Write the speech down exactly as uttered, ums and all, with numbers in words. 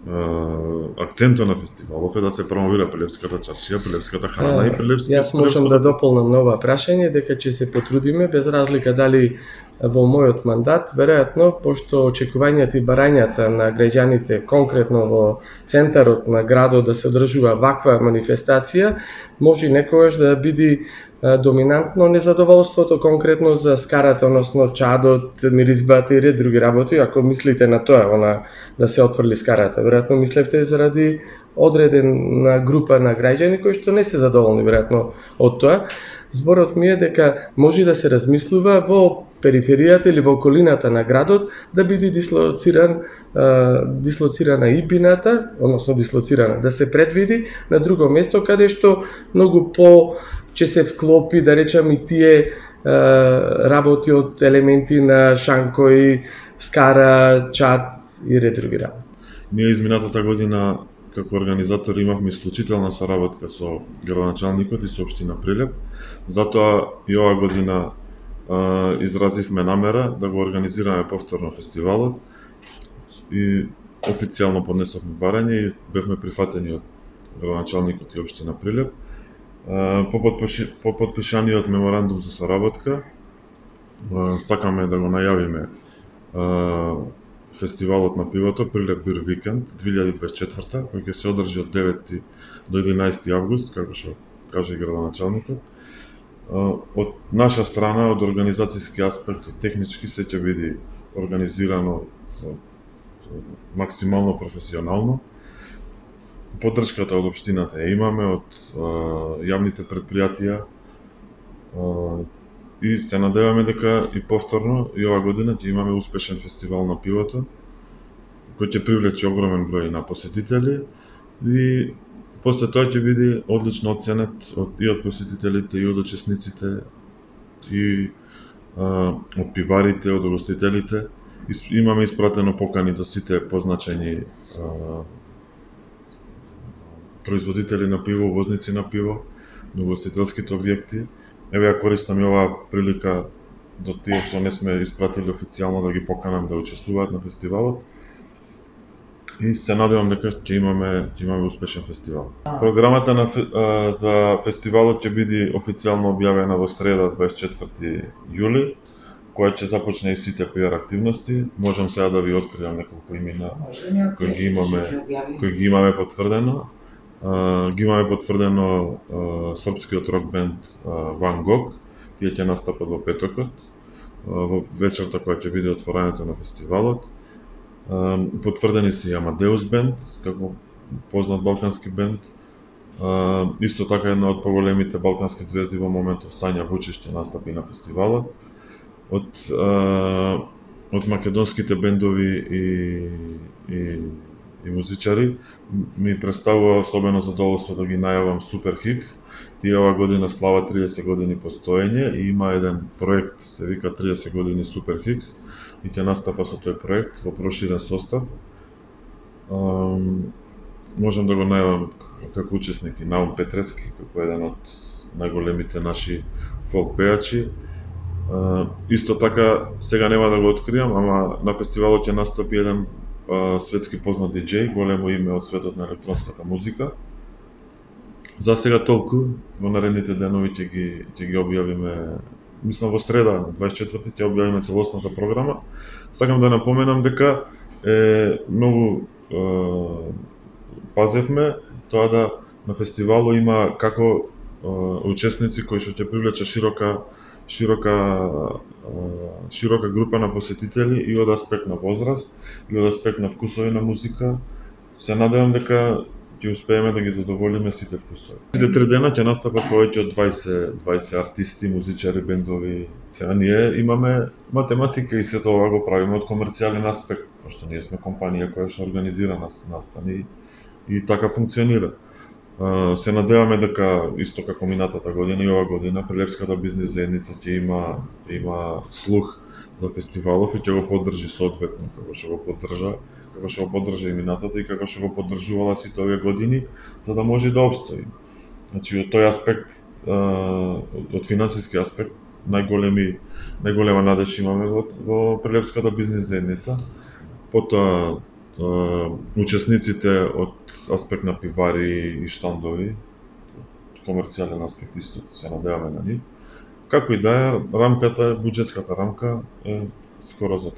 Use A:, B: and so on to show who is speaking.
A: акцентот на фестивалов е да се промовира Прилепската чаршија, прилепската храна и прилепската.
B: Јас можам да дополнам на ова прашање дека ќе се потрудиме без разлика дали во мојот мандат, веројатно, пошто очекувањата и барањата на граѓаните конкретно во центарот на градот да се одржува ваква манифестација, може некогаш да биде доминантно незадоволството конкретно за скарата, односно чадот, миризбата и ред други работи. Ако мислите на тоа, она да се отфрли скарата, веројатно мислевте заради одредена група на граѓани кои што не се задоволни веројатно од тоа. Зборот ми е дека може да се размислува во периферијата или во околината на градот да биде дислоциран дислоцирана ибината, односно дислоцирана, да се предвиди на друго место каде што многу по ќе се вклопи, да речам, и тие работи од елементи на шанкои, скара, чад и ред други работи.
A: Ние изминатата година како организатори имавме исклучителна соработка со градоначалникот и со општина Прилеп. Затоа и оваа година а, изразивме намера да го организираме повторно фестивалот и официјално поднесовме барање и бевме прифатени од градоначалникот и општина Прилеп. По, подпиши, по подпишаниот меморандум за соработка сакаме да го најавиме фестивалот на пивото Прилеп Бир Викенд две илјади дваесет и четврта, кој ќе се одржи од девети до единаесети август, како што каже и градоначалникот. Од наша страна, од организацијски аспект и технички се ќе биде организирано максимално професионално. Поддршката од општината ја имаме, од а, јавните предпријатија а, и се надеваме дека и повторно и ова година ќе имаме успешен фестивал на пивото, кој ќе привлече огромен број на посетители и после тоа ќе биде одлично оценет од, и од посетителите, и од учесниците, и а, од пиварите, од угостителите. Имаме испратено покани до сите позначени а, производители на пиво, возници на пиво, на угостителските објекти. Еве ја користам и оваа прилика до тие што не сме испратили официјално да ги поканам да учествуваат на фестивалот. И се надевам дека ќе имаме ќе имаме успешен фестивал. Програмата на а, за фестивалот ќе биде официјално објавена во среда дваесет и четврти јули, која ќе започне и сите пиар активности. Можам сега да ви откриам неколку имена кои ги имаме кои ги имаме потврдено. Uh, ги имаме потврдено uh, српскиот рок бенд uh, Ван Гог. Тие ќе настапат во петокот, uh, во вечерта која ќе биде отворањето на фестивалот. Uh, потврдени се и Амадеус бенд, како познат балкански бенд. Uh, исто така една од поголемите балкански звезди во моментов, Сања Вучич, ќе настапи на фестивалот. Од uh, од македонските бендови и и и музичари ми представува особено задоволство да ги најавам Супер Хикс. Тие ова година слава триесет години постоење и има еден проект, се вика триесет години Супер Хикс, и ќе настапа со тој проект во проширен состав. Um, можам да го најавам како учесник и Наум Петрески, како еден од најголемите наши фолк пејачи. Uh, исто така, сега нема да го откријам, ама на фестивалот ќе настапи еден Uh, светски познат диџеј, големо име од светот на електронската музика. За сега толку, во наредните денови ќе ги ќе ги објавиме, мислам во среда, дваесет и четврти ќе објавиме целосната програма. Сакам да напоменам дека е многу е, пазевме тоа да на фестивалот има како е, учесници кои што ќе привлече широка широка широка група на посетители и од аспект на возраст, и од аспект на вкусови на музика. Се надевам дека ќе успееме да ги задоволиме сите вкусови. Сите три дена ќе настапат повеќе од дваесет дваесет артисти, музичари, бендови. Сега ние имаме математика и сето ова го правиме од комерцијален аспект, пошто ние сме компанија која што организира настани и така функционира. Uh, се надеваме дека исто како минатата година и ова година Прилепската бизнис заедница ќе има има слух за фестивалов и ќе го поддржи соодветно како што го поддржа, како што го поддржа и минатата и како што го поддржувала сите овие години, за да може да опстои. Значи од тој аспект, uh, од финансиски аспект, најголеми најголема надеж имаме во, во Прилепската бизнис заедница. Потоа учесниците од аспект на пивари и штандови, комерцијален аспект исто се надеваме на нив. Како и да е, рамката, буџетската рамка е скоро затворена.